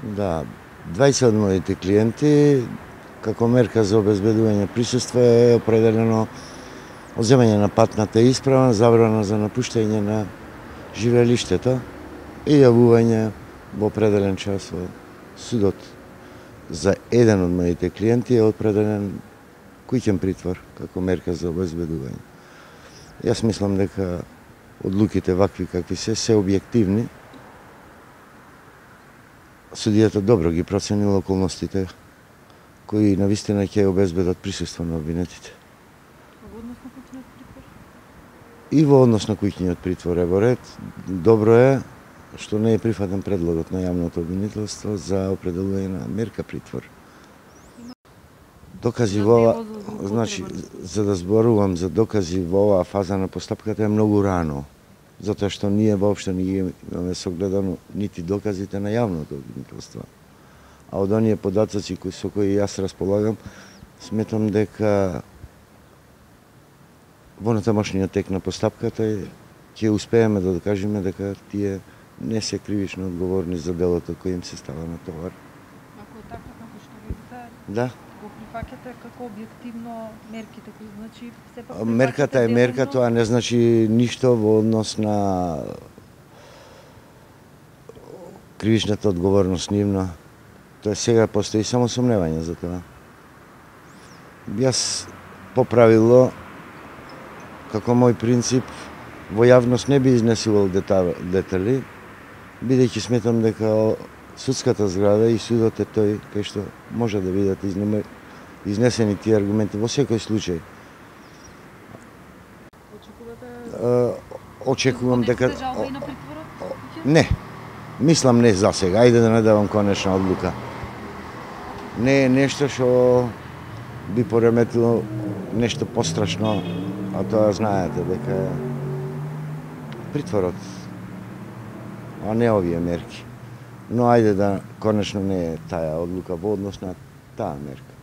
Да, 20 од моите клиенти, како мерка за обезбедување присуство е определено одземање на патната исправа, забрана за напуштање на живеелиштето и јавување во определен час во судот. За еден од моите клиенти е определен куќен притвор како мерка за обезбедување. Јас мислам дека одлуките вакви какви се објективни. Судијата добро ги проценила околностите кои навистина ќе обезбедат присуство на обвинетите. И во однос на куќниот притвор е во ред. Добро е што не е прифатен предлогот на јавното обвинителство за определување на мерка притвор. Докази во ова, значи, за да зборувам за докази во оваа фаза на постапката е многу рано, затоа што ние воопшто не ги имаме согледано нити доказите на јавното обвинителство. А од оние податоци со кои јас располагам, сметам дека во натамошниот тек на постапката ќе успееме да докажеме дека тие не се кривично одговорни за делото кој им се става на товар. Ако е така како што видите, да, го прифаќате како објективно мерките, кои значи сепак мерката е мерка, тоа не значи ништо во однос на кривичната одговорност нивна. Тоа сега постои само сомневање за тоа. Јас по правило, како мој принцип, во јавност не би изнесувал детали, бидејќи сметам дека судската зграда и судот е тој кај што може да бидат изнесени тие аргументи во секој случај. Очекувам дека не. Мислам не за сега, ајде да не давам конечна одлука. Не е нешто што би пореметило нешто пострашно, а тоа знаете дека притворот, а не овие мерки. Но ајде да конечно не е таа одлука во однос на таа мерка.